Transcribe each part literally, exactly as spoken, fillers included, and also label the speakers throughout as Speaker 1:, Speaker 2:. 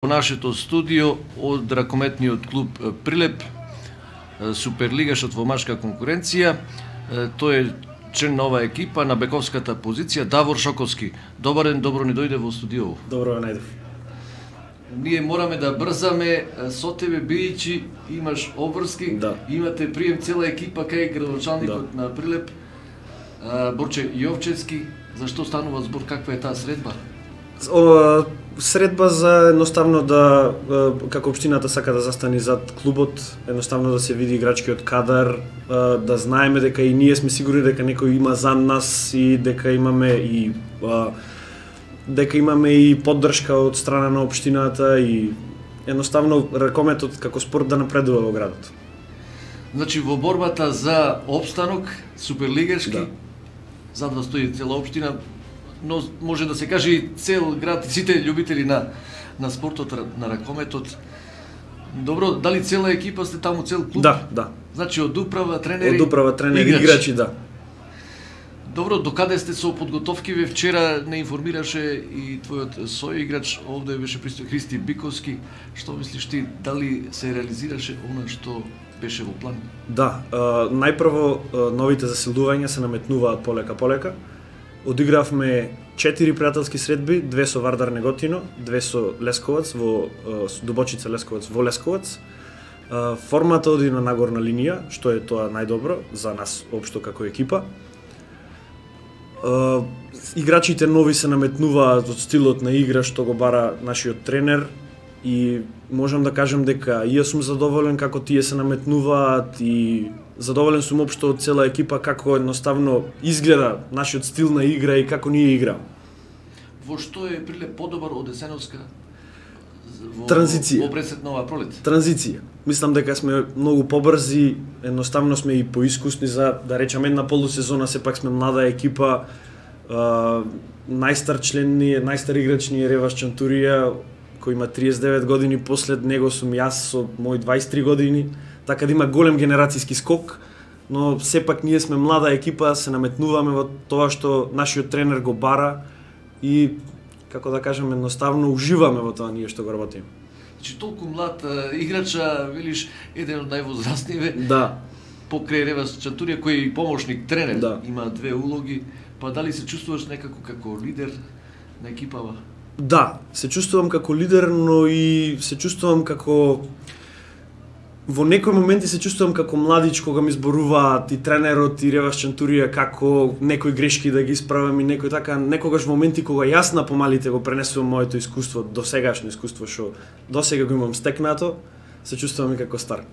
Speaker 1: Во нашето студио од ракометниот клуб Прилеп, суперлигашот во машка конкуренција, тој е член на оваа екипа на бековската позиција Давор Шоковски. Добар ден, добро ни дојде во студио.
Speaker 2: Добро ве најдов.
Speaker 1: Ние мораме да брзаме со тебе, бидејќи имаш обврски,
Speaker 2: да.
Speaker 1: Имате прием цела екипа кај градоначалникот да. на Прилеп, Борче Јовчевски. Зашто станува збор, каква е таа средба?
Speaker 2: О, средба за едноставно да, како општината сака да застани зад клубот, едноставно да се види играчкиот кадар, да знаеме дека и ние сме сигурни дека некој има за нас и дека имаме и дека имаме и поддршка од страна на општината и едноставно ракометот како спорт да напредува во градот.
Speaker 1: Значи во борбата за опстанок суперлигашки, да. Зад вас стои цела општина, но може да се каже и цел град, и сите љубители на на спортот, на ракометот. Добро, дали цела екипа сте таму, цел клуб?
Speaker 2: Да, да.
Speaker 1: Значи од управа, тренери,
Speaker 2: од управа, тренери, играчи, играчи да.
Speaker 1: Добро, докаде сте со подготовкиве? Вчера не информираше и твојот соиграч, овде беше присутен Христи Биковски. Што мислиш ти, дали се реализираше она што беше во план?
Speaker 2: Да, најпрво новите засилувања се наметнуваат полека полека. Одигравме четири пријателски средби, две со Вардар Неготино, две со Лесковац во Дубочица Лесковац во Лесковац. Формата оди на нагорна линија, што е тоа најдобро за нас општо како екипа. Играчите нови се наметнуваат од стилот на игра што го бара нашиот тренер и можам да кажам дека и јас сум задоволен како тие се наметнуваат и задоволен сум општо од цела екипа како едноставно изгледа нашиот стил на игра и како ние играме.
Speaker 1: Во што е Прилеп подобар од есеновска во,
Speaker 2: транзиција?
Speaker 1: Во пресет нова пролет?
Speaker 2: Транзиција. Мислам дека сме многу побрзи, едноставно сме и поискусни за, да речеме, една полусезона, сепак сме млада екипа, а, најстар член ни е, најстар играч ни е Ревас Чантурија, кој има триесет и девет години, послед него сум јас со мои дваесет и три години, така да има голем генерацијски скок, но сепак ние сме млада екипа, се наметнуваме во тоа што нашиот тренер го бара и, како да кажем, едноставно уживаме во тоа ние што го работиме.
Speaker 1: Значи толку млад играча, велиш, еден од највозрастниве.
Speaker 2: Да.
Speaker 1: Покрај Ревас Чантурија, кој е и помошник тренер,
Speaker 2: да.
Speaker 1: Има две улоги, па дали се чувствуваш некако како лидер на екипава?
Speaker 2: Да, се чувствувам како лидер, но и се чувствувам како во некои моменти се чувствувам како младич кога ми зборуваат и тренерот и Ревас Чантурија како некои грешки да ги исправам и некои така, некогаш моменти кога јас на помалите го пренесувам моето искуство, досегашно искуство што досега го имам стекнато, се чувствувам и како стар.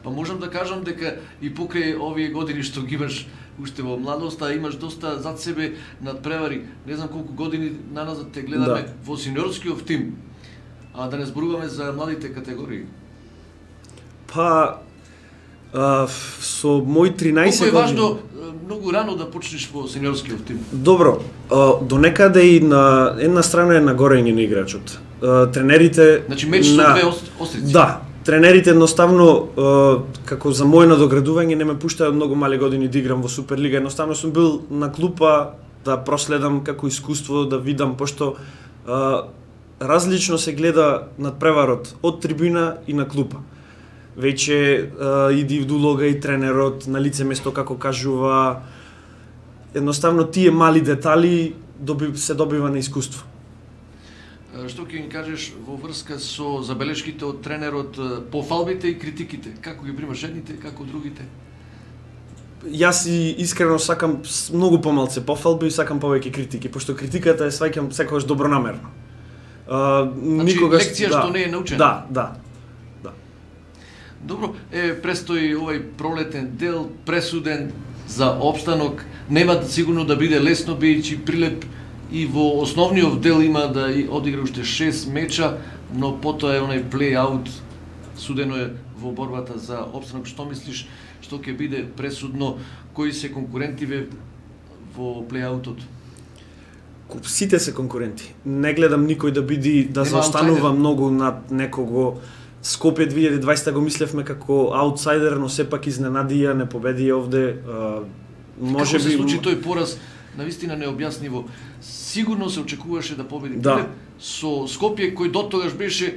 Speaker 1: Па можам да кажам дека и покрај овие години што ги имаш уште во младоста, имаш доста зад себе надпревари. Не знам колку години наназад те гледаме, да. Во синьорскиот тим. А да не зборуваме за младите категории.
Speaker 2: Па а, со мои тринаесет
Speaker 1: години. Колку е
Speaker 2: години...
Speaker 1: важно многу рано да почнеш во синьорскиот тим?
Speaker 2: Добро, а, до некаде и на една страна е нагорење на играчот. А, тренерите...
Speaker 1: Значи меч со
Speaker 2: на...
Speaker 1: две острици?
Speaker 2: Да. Тренерите едноставно, како за моје надоградување, не ме пуштаат многу мали години да играм во Суперлига. Едноставно сум бил на клупа да проследам како искуство, да видам, пошто а, различно се гледа надпреварот од трибина и на клупа. Веќе а, иди в улога и тренерот, на лице место како кажува, едноставно тие мали детали доби, се добива на искуство.
Speaker 1: Што ќе ни кажеш во врска со забелешките од тренерот, пофалбите и критиките? Како ги примаш едните, како другите?
Speaker 2: Јас и искрено сакам многу помалце пофалби и сакам повеќе критики, пошто критиката е сваќам секогаш добронамерно. А,
Speaker 1: значи,
Speaker 2: никогаш,
Speaker 1: лекција
Speaker 2: да,
Speaker 1: што не е научена?
Speaker 2: Да, да, да.
Speaker 1: Добро, е, престои овој пролетен дел, пресуден за опстанок. Нема сигурно да биде лесно, бидејќи Прилеп и во основниот дел има да одигра уште шест меча, но потоа е онај плей-аут, судено е во борбата за опстанок. Што мислиш, што ќе биде пресудно, кои се конкурентиве во плей-аутот?
Speaker 2: Сите се конкуренти. Не гледам никој да биди да заостанува многу над некого. Скопје две илјади и дваесета го мислевме како аутсайдер, но сепак изненадија, не победи овде. Може
Speaker 1: како
Speaker 2: би
Speaker 1: се случи тој пораз? Навистина необјасниво. Сигурно се очекуваше да победи
Speaker 2: да.
Speaker 1: Прилеп со Скопје кој дотогаш беше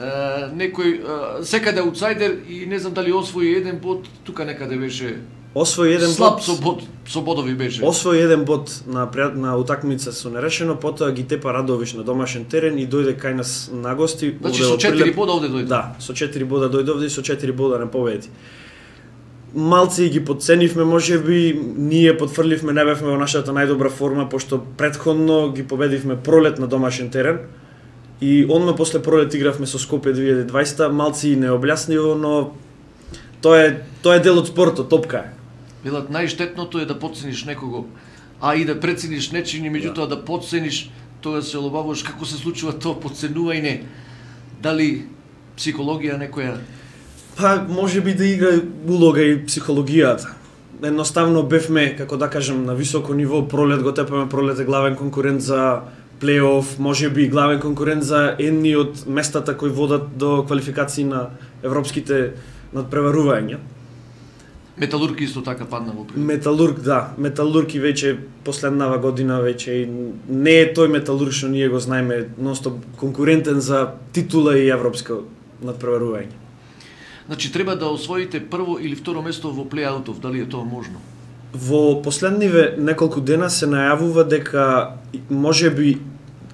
Speaker 1: Uh, некој uh, секаде аутсайдер и не знам дали освои еден бод, тука некаде беше
Speaker 2: освои еден
Speaker 1: слаб
Speaker 2: бод,
Speaker 1: со бод, со бодови беше.
Speaker 2: Освои еден бод на на утакмица со нерешено, потоа ги тепа Радовиш на домашен терен и дојде кај нас на гости.
Speaker 1: Значи со четири бода овде дојде.
Speaker 2: Да, со четири бода дојде овде и со четири бода не победи. Малци ги подценивме, можеби ние потфрливме, не бевме во нашата најдобра форма, пошто претходно ги победивме пролет на домашен терен. И онма после пролет игравме со Скопје две илјади и дваесета, малци необјаснливо, но тоа е тоа е дел од спортот, топка е.
Speaker 1: Велат најштетното е да подцениш некого, а и да прецениш нечини, меѓутоа да, да подцениш, тоа се олабавуваш како се случува тоа подценување. Дали психологија некоја?
Speaker 2: Па можеби да игра улога и психологијата. Едноставно бевме, како да кажем, на високо ниво, пролет го тепаме, пролет е главен конкурент за плейоф, можеби главен конкурент за едни од местата кои водат до квалификации на европските надпреварувања.
Speaker 1: Металург исто така падна во прилог.
Speaker 2: Металург, да. Металург и веќе последнава година веќе не е тој Металург што ние го знаеме, ностоп конкурентен за титула и европско надпреварување.
Speaker 1: Значи треба да освоите прво или второ место во плей-аутов, дали е тоа можно?
Speaker 2: Во последниве неколку дена се најавува дека можеби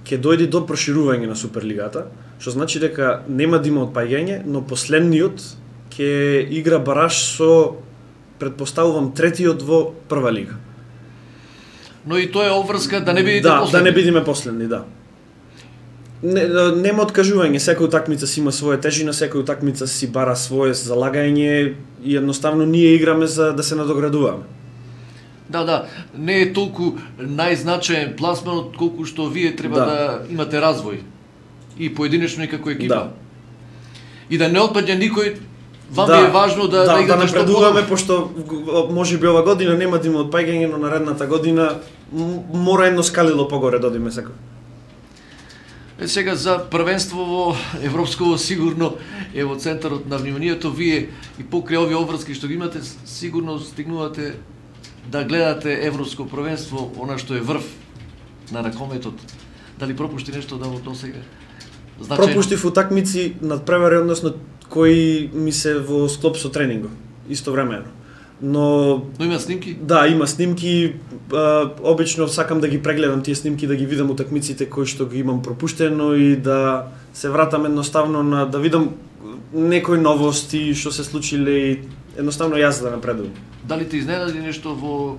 Speaker 2: ќе дојде до проширување на Суперлигата, што значи дека нема да има отпаѓање, но последниот ќе игра бараш со, предпоставувам, третиот во прва лига.
Speaker 1: Но и тоа е обврска да не бидете
Speaker 2: да,
Speaker 1: последни.
Speaker 2: Да, не бидиме последни, да. Не, нема откажување, секоја утакмица си има своја тежина, секоја утакмица си бара свое залагање и едноставно ние играме за да се надоградуваме.
Speaker 1: Да, да, не е толку најзначаен пласманот колку што вие треба да, да имате развој и поединечно и како екипа.
Speaker 2: Да.
Speaker 1: И да не отпадне никој, вам
Speaker 2: да,
Speaker 1: е важно да
Speaker 2: да,
Speaker 1: да играте
Speaker 2: да
Speaker 1: што
Speaker 2: напредуваме, пошто можеби ова година нема да има отпаѓање, но наредната година мора едно скалило погоре да одиме секој.
Speaker 1: Е, сега за првенство во европско сигурно е во центарот на вниманието, вие и покрај овие обврски што ги имате, сигурно стигнувате да гледате европско првенство, она што е врв на ракометот. Дали пропушти нешто да во досега? Значајно?
Speaker 2: Пропуштив утакмици надпревари, односно кои ми се во склоп со тренингот, истовремено. Но
Speaker 1: Но има снимки?
Speaker 2: Да, има снимки. А, обично сакам да ги прегледам тие снимки, да ги видам утакмиците кои што ги имам пропуштено и да се вратам едноставно на да видам некои новости што се случиле и едноставно јас да напредувам.
Speaker 1: Дали те изненади нешто во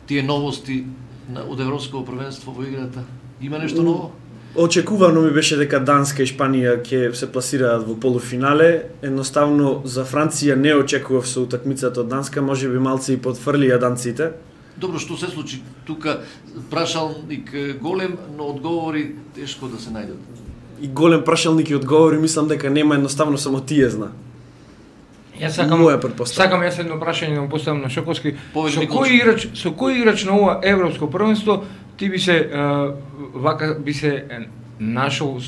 Speaker 1: тие новости од европското првенство во играта? Има нешто ново?
Speaker 2: Очекувано ми беше дека Данска и Шпанија ќе се пласираат во полуфинале. Едноставно за Франција не очекував со утакмицата од Данска, можеби малци и потфрлија данците.
Speaker 1: Добро, што се случи? Тука прашалник голем, но одговори тешко да се најдат.
Speaker 2: И голем прашалник и одговори, мислам дека нема, едноставно само тие зна.
Speaker 3: Јас сакам, сакам јас едно прашање да му поставам на Шоковски. Со кој играч, со кој играч на ова европско првенство ти би се uh, вака би се нашол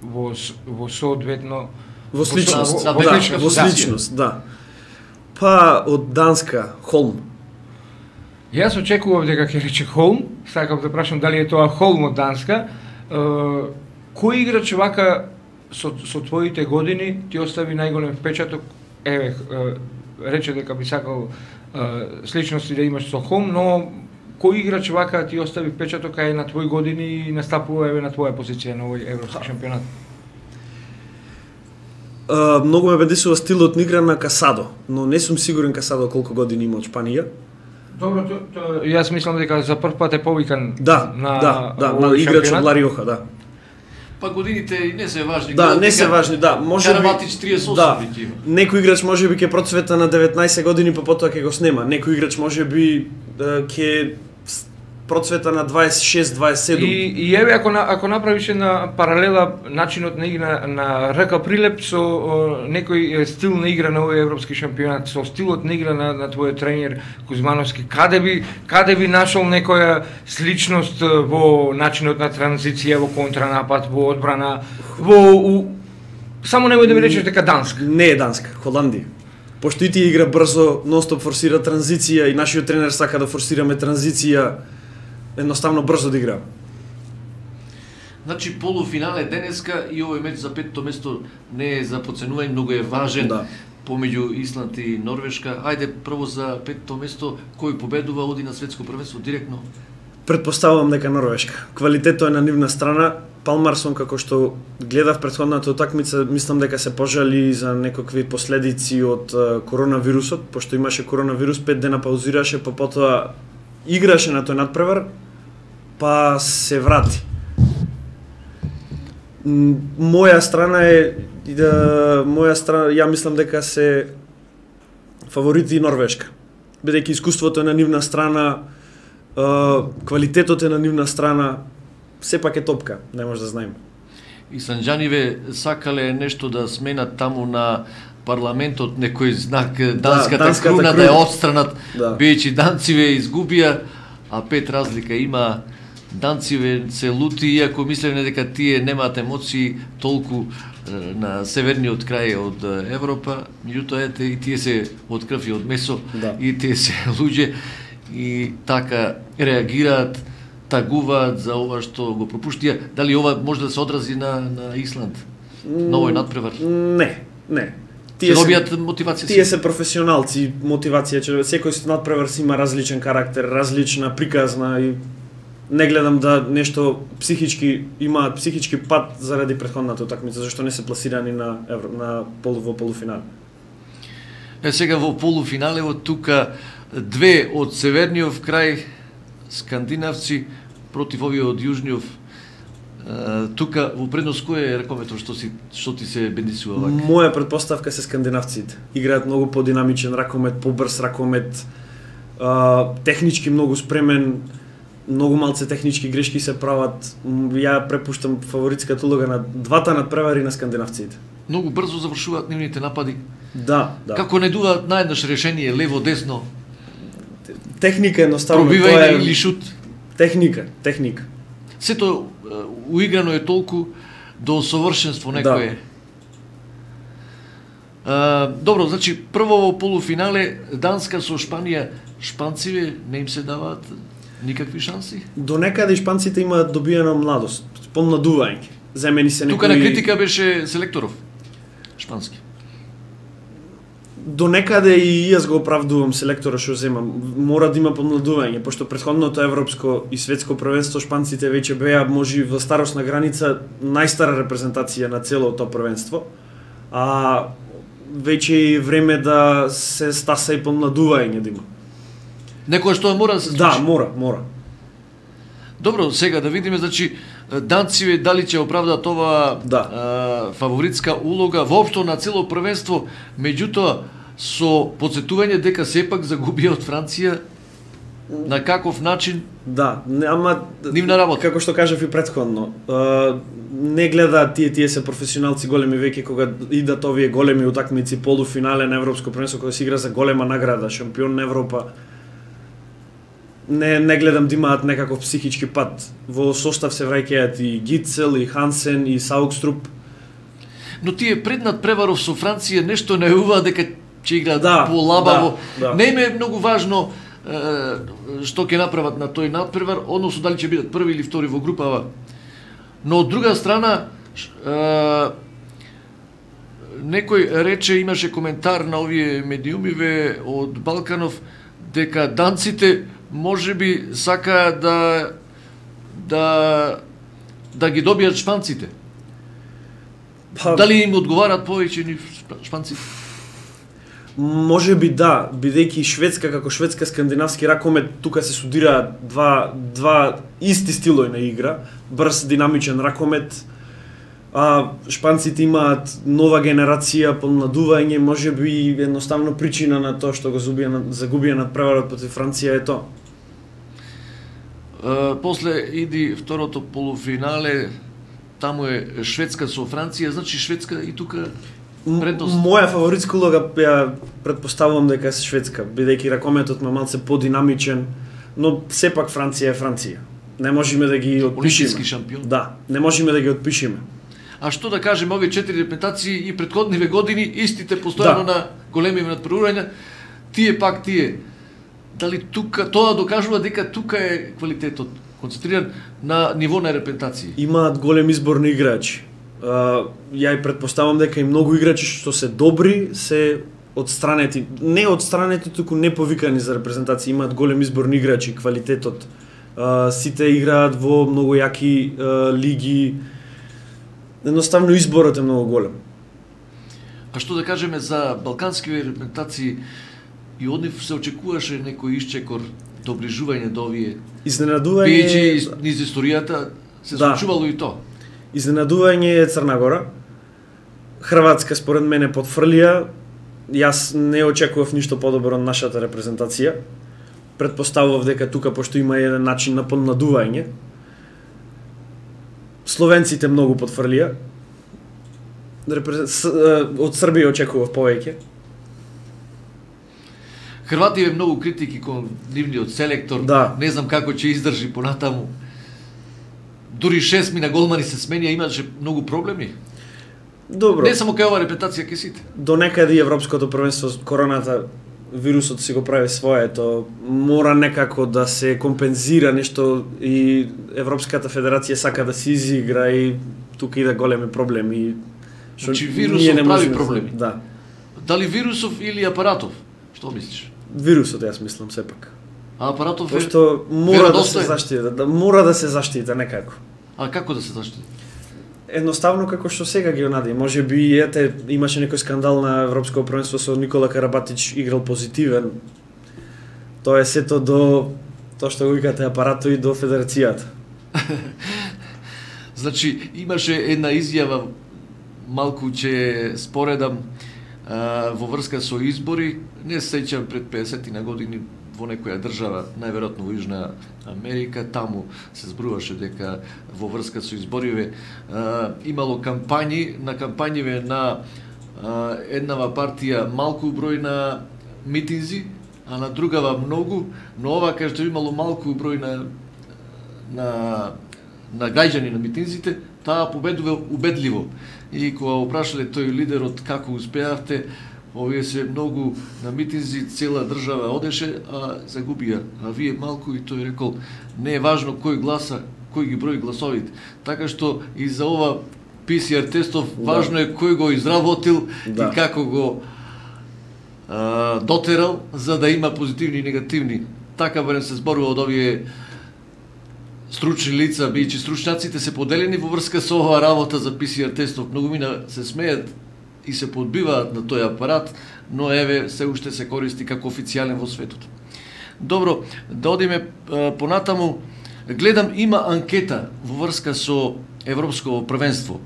Speaker 3: во во соодветно
Speaker 2: во сличност,
Speaker 1: во,
Speaker 2: во, да, во сличност, да. Па од Данска Холм.
Speaker 3: Јас очекував дека ќе рече Холм, сакам да прашам дали е тоа Холм од Данска. Uh, кој играч вака со со твоите години ти остави најголем впечаток? Еве, рече дека би сакал uh, сличности да имаш со Холм, но кој играч вака ти остави впечаток кај на твои години и настапува еве на твоја позиција на овој европски шампионат?
Speaker 2: Uh, многу ме бедесува стилот на игра на Касадо, но не сум сигурен Касадо колку години има од Шпанија.
Speaker 3: Добро, то, то, јас мислам дека за прв пат е повикан
Speaker 2: да,
Speaker 3: на
Speaker 2: да, да, на играч од Лариоха, да.
Speaker 1: Па годините не се важни.
Speaker 2: Да, не се важни, да. Можеби
Speaker 1: Караватич триесет и осум
Speaker 2: да,
Speaker 1: веќе има.
Speaker 2: Некој играч можеби ќе процвета на деветнаесет години, па потоа ќе го снема. Некој играч можеби ќе процвета на дваесет и шест дваесет и седум.
Speaker 3: И, и еве ако на, ако направиш една паралела начинот на игра на Рака Прилеп со о, некој стил на игра на овој европски шампионат, со стилот на игра на, на твојот тренер Кузмановски, каде би каде би нашол некоја сличност во начинот на транзиција, во контранапад, во одбрана, во у... само немој да ми речеш дека Данска.
Speaker 2: Не е Данска, Холандија. Пошто и тие игра брзо, нонстоп форсира транзиција и нашиот тренер сака да форсираме транзиција, едноставно брзо да игра.
Speaker 1: Значи полуфинале денеска и овој меч за петто место не е за подценување, многу е важен
Speaker 2: Да.
Speaker 1: помеѓу Исланд и Норвешка. Ајде прво за петто место, кој победува оди на светско првенство директно?
Speaker 2: Предпоставувам дека Норвешка. Квалитетот е на нивна страна. Палмарсон, како што гледав претходната утакмица, мислам дека се пожали за некакви последици од е, коронавирусот, пошто имаше коронавирус, пет дена паузираше, па потоа играше на тој надпревар, па се врати. М, Моја страна е да, моја страна, ја мислам дека се фаворити Норвешка. Бидејќи искуството е на нивна страна, е, квалитетот е на нивна страна, сепак е топка, не може да знаеме.
Speaker 1: И санџаниве сакале нешто да сменат таму на парламентот, некој знак данската,
Speaker 2: данската
Speaker 1: круна
Speaker 2: круна.
Speaker 1: да ја отстранат,
Speaker 2: Да.
Speaker 1: бидејќи данциве изгубија, а пет разлика има. Данциве се лути, иако мислевме дека тие немаат емоции толку е, на северниот крај од е, Европа, меѓутоа ете и тие се од крв и од месо,
Speaker 2: Да.
Speaker 1: и тие се луѓе и така реагираат, тагуваат за ова што го пропуштија. Дали ова може да се одрази на на Исланд? На овој надпревар?
Speaker 2: Не, не.
Speaker 1: Тие добијат мотивација.
Speaker 2: Тие се професионалци, мотивација, че секој надпревар си има различен карактер, различна приказна и не гледам да нешто психички имаат психички пат заради претходната утакмица, зашто не се пласирани на евро, на полу во полуфинале.
Speaker 1: Е, сега во полуфиналево тука две од северниот крај скандинавци против овие од јужниот. Е, тука во предност кој е ракометот што си што ти се бенисува вака?
Speaker 2: Моја предпоставка се скандинавците. Играат многу подинамичен ракомет, побрз ракомет, а, технички многу спремен, многу малце технички грешки се прават. М, Ја препуштам фаворитската улога на двата надпревари на скандинавците.
Speaker 1: Многу брзо завршуваат нивните напади.
Speaker 2: Да, да.
Speaker 1: Како не дуваат наеднаш решение лево десно,
Speaker 2: Техника едноставно
Speaker 1: пробивање
Speaker 2: тоа е
Speaker 1: или шут.
Speaker 2: техника, техника.
Speaker 1: Сето е, уиграно е толку до совршенство некое. Да. Добро, значи прво во полуфинале Данска со Шпанија, шпанциве не им се даваат никакви шанси.
Speaker 2: До некаде шпанците имаат добиена младост, помладување. Земени се некои...
Speaker 1: Тука на критика беше селекторов шпански.
Speaker 2: До некаде и јас го оправдувам селектора што земам. Мора да има помладување, пошто претходното европско и светско првенство шпанците веќе беа може во старосна граница најстара репрезентација на целото тоа првенство. А веќе е време да се стаса и помладување да има.
Speaker 1: Некоја што мора да се случи.
Speaker 2: Да, мора, мора.
Speaker 1: Добро, сега да видиме, значи, данциве дали ќе оправдаат ова
Speaker 2: Да.
Speaker 1: а, фаворитска улога воопшто на цело првенство, меѓутоа со подсетување дека сепак загубија од Франција на каков начин.
Speaker 2: Да, не, ама
Speaker 1: Нивна работа.
Speaker 2: како што кажав и претходно, а, не гледаат тие тие се професионалци големи веќе кога идат овие големи утакмици, полуфинале на европско првенство кога се игра за голема награда, шампион на Европа. Не не гледам да имаат некаков психички пат. Во состав се враќаат и Гицел, и Хансен, и Саукструп.
Speaker 1: Но тие пред надпреваров со Франција нешто најуваа дека ќе играат
Speaker 2: Да,
Speaker 1: полабаво.
Speaker 2: да, да.
Speaker 1: Не им е многу важно е, што ќе направат на тој надпревар, односно дали ќе бидат први или втори во групава. Но од друга страна, е, некој рече, имаше коментар на овие медиумиве од Балканов, дека данците можеби сакаат да да да ги добијат шпанците.
Speaker 2: Па,
Speaker 1: Дали им одговарат повеќе ни шпанците?
Speaker 2: може би да, бидејќи Шведска како шведска скандинавски ракомет тука се судираат два два исти стилови на игра, брз динамичен ракомет. А шпанците имаат нова генерација, помладување, може би едноставно причина на тоа што го загубија загубија надпреварот против Франција е тоа.
Speaker 1: Uh, после иди второто полуфинале, таму е Шведска со Франција, значи Шведска и тука предност.
Speaker 2: Моја фаворитска улога ја претпоставувам дека е Шведска, бидејќи ракометот ме малце подинамичен, но сепак Франција е Франција. Не можеме да ги
Speaker 1: Олимписки
Speaker 2: отпишеме.
Speaker 1: шампион.
Speaker 2: Да, не можеме да ги отпишеме.
Speaker 1: А што да кажеме, овие четири репетации и претходниве години, истите постојано
Speaker 2: Да.
Speaker 1: на големи надпреварувања, тие пак тие. Дали тука тоа докажува дека тука е квалитетот концентриран на ниво на репрезентација.
Speaker 2: Имаат голем избор на играчи. Uh, ја и предпоставам дека и многу играчи што се добри се одстранети, не одстранети, туку не повикани за репрезентација, имаат голем избор на играчи, квалитетот. Uh, сите играат во многу јаки uh, лиги. Едноставно изборот е многу голем.
Speaker 1: А што да кажеме за балкански репрезентации, и од нив се очекуваше некој исчекор, доближување до овие.
Speaker 2: Изненадување
Speaker 1: Бијајќи низ историјата се
Speaker 2: Да.
Speaker 1: случувало и то.
Speaker 2: Изненадување е Црна Гора. Хрватска според мене потфрлија. Јас не очекував ништо подобро од нашата репрезентација. Предпоставував дека тука, пошто има еден начин на подмладување, словенците многу потфрлија. Репрезент... Од Србија очекував повеќе.
Speaker 1: Хрвативе многу критики кон нивниот селектор.
Speaker 2: Да.
Speaker 1: Не знам како ќе издржи понатаму. Дури шест мина голмани се сменија, имаше многу проблеми.
Speaker 2: Добро.
Speaker 1: Не само кај ова репрезентација, ке сите.
Speaker 2: До некаде и Европското првенство, короната, вирусот си го прави своето, мора некако да се компензира нешто, и Европската федерација сака да се изигра, и тука иде големи проблеми. Шо
Speaker 1: Значи
Speaker 2: ние
Speaker 1: вирусот
Speaker 2: не
Speaker 1: прави
Speaker 2: можеме да-
Speaker 1: проблеми.
Speaker 2: Да.
Speaker 1: Дали вирусов или апаратов? Што мислиш?
Speaker 2: Вирусот, јас мислам сепак.
Speaker 1: А апаратов е...
Speaker 2: Пошто мора да се
Speaker 1: веродостоен.
Speaker 2: заштита, да мора да се заштита некако.
Speaker 1: А како да се заштити?
Speaker 2: Едноставно како што сега ги онади, може би ете имаше некој скандал на Европско првенство со Никола Карабатич, играл позитивен. Тоа е сето до тоа што го викате апарато и до федерацијата.
Speaker 1: Значи, имаше една изјава, малку ќе споредам, а, во врска со избори, не се сеќам пред педесет на години во некоја држава, најверојатно во Јужна Америка, таму се зборуваше дека во врска со избориве а, имало кампањи, на кампањиве на а, еднава партија малку број на митинзи, а на другава многу, но ова кај што имало малку број на на на гајџани на митинзите, таа победува убедливо. И кога опрашале тој лидерот како успеавте, овие се многу на митинзи, цела држава одеше, а загубија. А вие малку, и тој рекол, не е важно кој гласа, кој ги брои гласовите. Така што и за ова пи си ар тестов
Speaker 2: Да.
Speaker 1: важно е кој го изработил
Speaker 2: Да.
Speaker 1: и како го а, дотерал, за да има позитивни и негативни. Така барем се зборува од овие стручни лица, бијќи стручњаците се поделени во врска со оваа работа за пи си ар тестов. Многу мина се смеат и се подбиваат на тој апарат, но еве се уште се користи како официјален во светот. Добро, да одиме а, понатаму. Гледам, има анкета во врска со Европско првенство.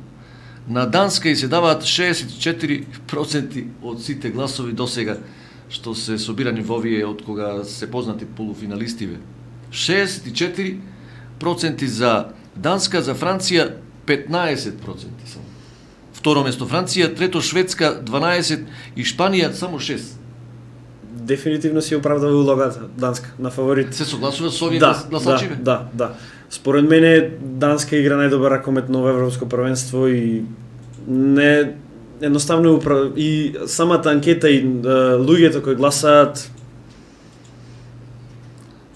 Speaker 1: На Данска и се даваат шеесет и четири проценти од сите гласови досега што се собирани во овие од кога се познати полуфиналистиве. шеесет и четири проценти за Данска, за Франција петнаесет проценти само. Второ место Франција, трето Шведска дванаесет и Шпанија само шест.
Speaker 2: Дефинитивно си оправдава улогата Данска на фаворит.
Speaker 1: Се согласува со овие
Speaker 2: Да,
Speaker 1: гласачиве?
Speaker 2: да, да, да. Според мене Данска игра најдобар ракомет на Европско првенство и не едноставно упра... и самата анкета и uh, луѓето кои гласаат.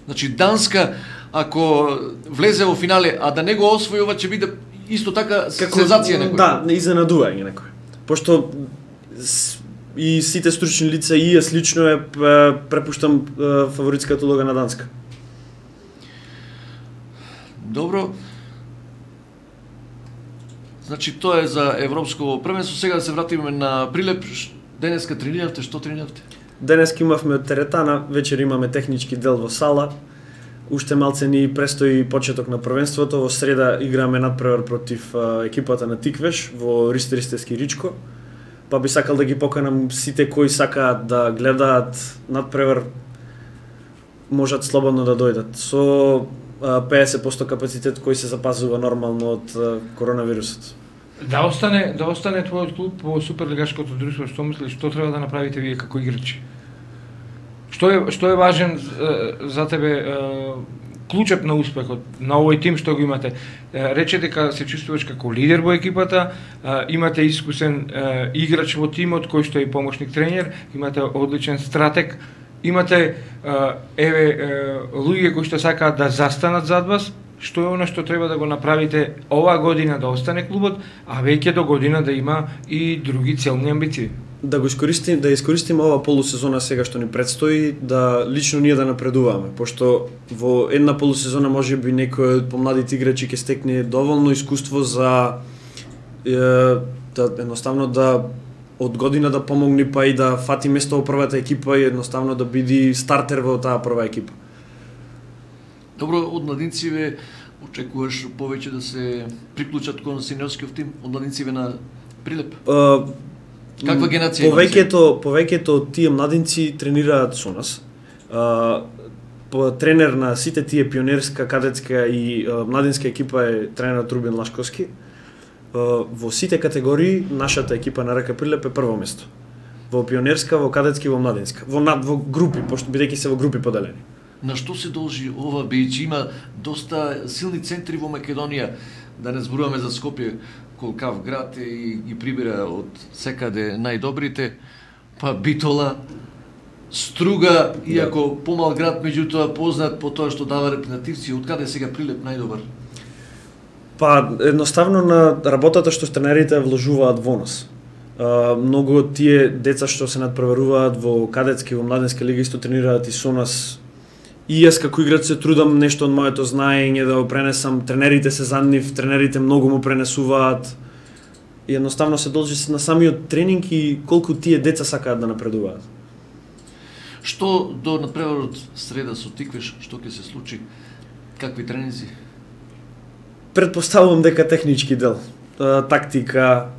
Speaker 1: Значи Данска, ако влезе во финале, а да не го освојува, ќе биде исто така сензација некој.
Speaker 2: Да, не изненадување некој. Пошто с- и сите стручни лица и јас лично е е, препуштам е, фаворитската улога на Данска.
Speaker 1: Добро. Значи тоа е за Европско првенство. Сега да се вратиме на Прилеп. Ш- Денеска трениравте, што трениравте?
Speaker 2: Денес имавме од теретана, вечер имаме технички дел во сала. Уште малце ни престои почеток на првенството. Во среда играме надпревар против а, екипата на Тиквеш во Ристеристевски Ричко. Па би сакал да ги поканам сите кои сакаат да гледаат надпревар, можат слободно да дојдат. Со а, педесет проценти капацитет кој се запазува нормално од а, коронавирусот.
Speaker 3: Да остане, да остане твојот клуб во суперлигашкото друштво, што мислиш, што треба да направите вие како играчи? Што е што е важен е, за тебе е, клучев на успехот на овој тим што го имате? Е, рече дека се чувствуваш како лидер во екипата, е, имате искусен е, играч во тимот кој што е и помошник тренер, имате одличен стратег, имате е, еве е, луѓе кои што сакаат да застанат зад вас. што е она што треба да го направите оваа година да остане клубот, а веќе до година да има и други целни амбиции?
Speaker 2: Да го искористим, да искористиме ова полусезона сега што ни предстои, да лично ние да напредуваме, пошто во една полусезона можеби некој од помладите играчи ќе стекне доволно искуство за е, да едноставно да од година да помогне, па и да фати место во првата екипа и едноставно да биде стартер во таа прва екипа.
Speaker 1: Добро, од младинциве очекуваш повеќе да се приклучат кон сениорскиот тим, од младинциве на Прилеп?
Speaker 2: Uh,
Speaker 1: Каква генерација има?
Speaker 2: Повеќето, повеќето од тие младинци тренираат со нас. Uh, по тренер на сите тие пионерска, кадетска и uh, младинска екипа е тренерот Рубен Лашковски. Uh, во сите категории нашата екипа на РК Прилеп е прво место. Во пионерска, во кадетски и во младинска. Во над во групи, пошто бидејќи се во групи поделени.
Speaker 1: На што се должи ова, бидејќи има доста силни центри во Македонија, да не зборуваме за Скопје, колкав град е и ги прибира од секаде најдобрите, па Битола, Струга, иако помал град, меѓутоа познат по тоа што дава репрезентативци, од каде сега Прилеп најдобар?
Speaker 2: Па едноставно на работата што тренерите вложуваат во нас. Uh, многу од тие деца што се надпреваруваат во кадетски, во младенска лига исто тренираат и со нас. И јас како играч се трудам нешто од моето знаење да го пренесам, тренерите се за нив, тренерите многу му пренесуваат. И едноставно се должи на самиот тренинг и колку тие деца сакаат да напредуваат.
Speaker 1: Што до надпреварот среда со Тиквеш, што ќе се случи? Какви тренинзи?
Speaker 2: Предпоставувам дека технички дел, тактика,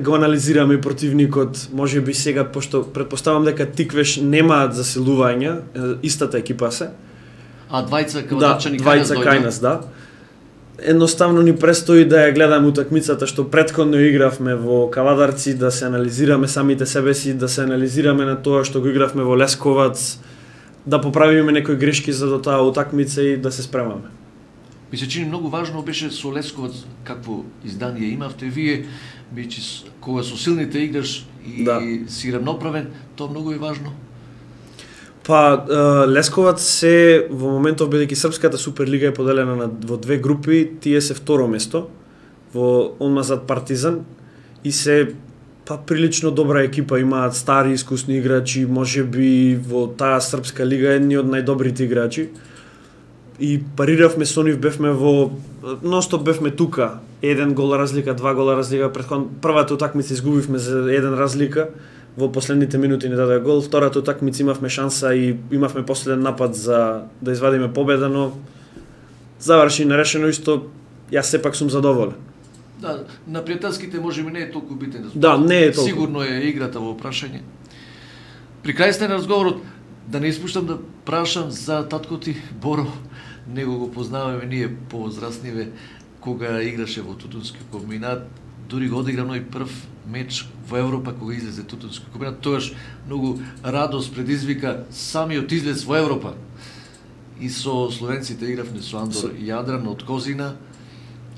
Speaker 2: го анализираме противникот, може би сега, пошто предпоставам дека Тиквеш немаат засилувања, истата екипа се.
Speaker 1: А двајца
Speaker 2: да,
Speaker 1: кавадачани
Speaker 2: двајца кај нас, да. Едноставно ни престои да ја гледаме утакмицата што претходно игравме во Кавадарци, да се анализираме самите себе си, да се анализираме на тоа што го игравме во Лесковац, да поправиме некои грешки за до таа утакмица и да се спремаме.
Speaker 1: Ми се чини многу важно беше со Лесковац какво издание имавте вие, бидејќи кога со силните играш и да. си равноправен, тоа многу е важно.
Speaker 2: Па Лесковац се во моментов, бидејќи Српската Суперлига е поделена на во две групи, тие се второ место во одма зад Партизан и се па прилично добра екипа, имаат стари искусни играчи, можеби во таа Српска лига едни од најдобрите играчи. И париравме со нив, бевме во ностоп бевме тука, еден гол разлика, два гола разлика, претходно првата утакмица изгубивме за еден разлика, во последните минути не даде гол, втората утакмица имавме шанса и имавме последен напад за да извадиме победа, но заврши нерешено исто, јас сепак сум задоволен.
Speaker 1: Да, на пријателските можеби не е толку битен.
Speaker 2: Да, не е толку.
Speaker 1: Сигурно е играта во прашање. При крај сте на разговорот, да не испуштам да прашам за татко ти Боро. Него го познаваме ние повозрастниве, кога играше во Тутунски комбинат, дури го одигра ној прв меч во Европа кога излезе Тутунски комбинат, тоаш многу радост предизвика самиот излез во Европа. И со словенците игравме со Андор и Јадран од Козина.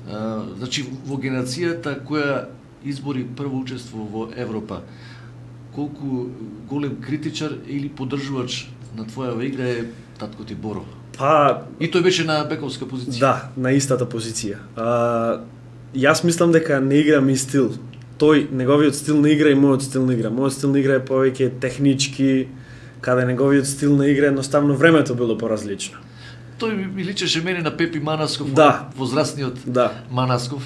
Speaker 1: А, значи во генерацијата која избори прво учество во Европа, колку голем критичар или поддржувач на твојава игра е татко ти Боро?
Speaker 2: Па
Speaker 1: и тој беше на бековска позиција.
Speaker 2: Да, на истата позиција. А, јас мислам дека не игра ми стил. Тој неговиот стил на игра и мојот стил на игра. Мојот стил на игра е повеќе технички, каде неговиот стил на игра едноставно времето било поразлично.
Speaker 1: Тој ми личеше мене на Пепи Манасков,
Speaker 2: да.
Speaker 1: возрастниот
Speaker 2: да.
Speaker 1: Манасков.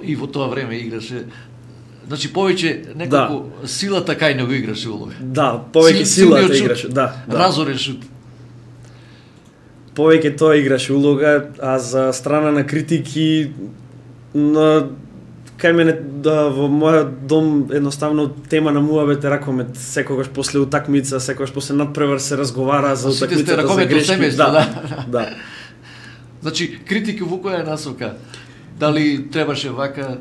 Speaker 1: И во тоа време играше. Значи повеќе некако да. Силата кај него играше улога.
Speaker 2: Да, повеќе Сил, силата играше, да, да.
Speaker 1: Разорен шут.
Speaker 2: Повеќе тоа играше улога, а за страна на критики на кај мене да во мојот дом едноставно тема на муабет е ракомет, секогаш после утакмица, секогаш после надпревар се разговара за утакмицата, за грешки.
Speaker 1: Семејство,
Speaker 2: да,
Speaker 1: да.
Speaker 2: да.
Speaker 1: Значи критики во која насока? Дали требаше вака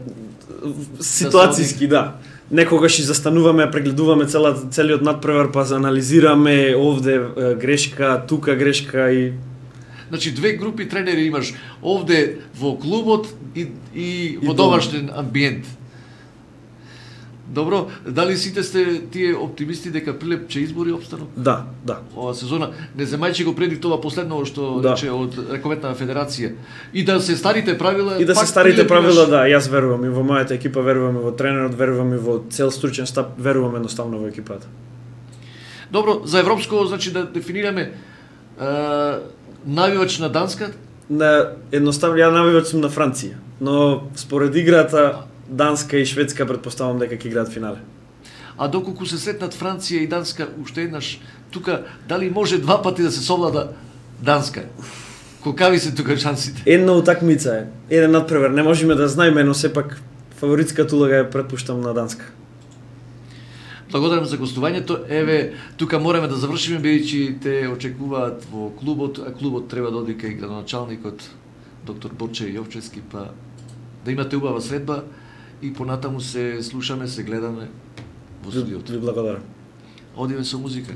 Speaker 2: ситуацијски, да. Некогаш и застануваме, прегледуваме цела, целиот надпревар, па анализираме овде грешка, тука грешка и...
Speaker 1: Значи две групи тренери имаш овде во клубот и, и во домашен амбиент. Добро, дали сите сте тие оптимисти дека Прилеп ќе избори опстанок?
Speaker 2: Да, да.
Speaker 1: Ова сезона не земајче го преди тоа последно што
Speaker 2: Да.
Speaker 1: рече од ракометна федерација. И да се старите правила,
Speaker 2: И да се
Speaker 1: пак
Speaker 2: старите
Speaker 1: Прилеп
Speaker 2: правила,
Speaker 1: имаш-
Speaker 2: да, јас верувам и во мојата екипа, верувам и во тренерот, верувам и во цел стручен штаб, верувам едноставно во екипата.
Speaker 1: Добро, за европско, значи да дефинираме е, навивач на Данска,
Speaker 2: На едноставно ја навивач сум на Франција, но според играта Данска и Шведска претпоставам дека ќе играат финале.
Speaker 1: а доколку се сретнат Франција и Данска уште еднаш, тука дали може два пати да се совлада Данска? Колкави се тука шансите?
Speaker 2: Една утакмица е, еден надпревар, не можеме да знаеме, но сепак фаворитската улога ја претпуштам на Данска.
Speaker 1: Благодарам за гостувањето. Еве, тука мораме да завршиме, бидејќи те очекуваат во клубот, а клубот треба да оди кај градоначалникот доктор Борче Јовчевски, па да имате убава средба и понатаму се слушаме, се гледаме во студиото.
Speaker 2: Ви благодарам.
Speaker 1: Одиме со музика.